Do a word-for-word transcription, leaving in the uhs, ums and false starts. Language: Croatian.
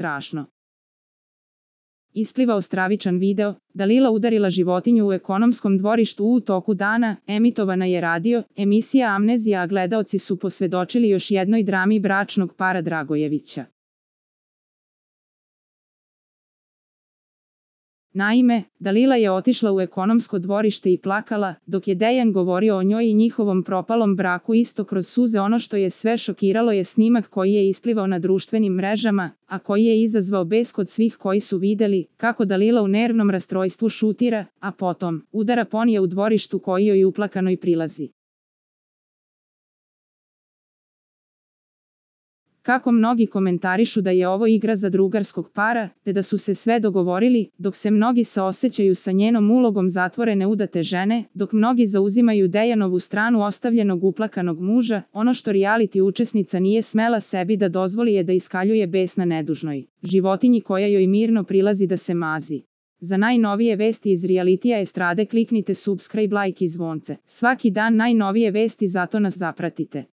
strašno. Isplivao stravičan video, Dalila udarila životinju u ekonomskom dvorištu u toku dana, emitovana je radio, emisija Amnezija, a gledaoci su posvedočili još jednoj drami bračnog para Dragojevića. Naime, Dalila je otišla u ekonomsko dvorište i plakala, dok je Dejan govorio o njoj i njihovom propalom braku isto kroz suze. Ono što je sve šokiralo je snimak koji je isplivao na društvenim mrežama, a koji je izazvao bes kod svih koji su videli kako Dalila u nervnom rastrojstvu šutira, a potom udara ponija u dvorištu koji joj uplakanoj prilazi. Kako mnogi komentarišu da je ovo igra za drugarskog para, te da su se sve dogovorili, dok se mnogi saosećaju sa njenom ulogom zatvorene udate žene, dok mnogi zauzimaju Dejanovu stranu ostavljenog uplakanog muža, ono što reality učesnica nije smela sebi da dozvoli je da iskaljuje bes na nedužnoj životinji koja joj mirno prilazi da se mazi. Za najnovije vesti iz realitija estrade kliknite subscribe, like i zvonce. Svaki dan najnovije vesti, zato nas zapratite.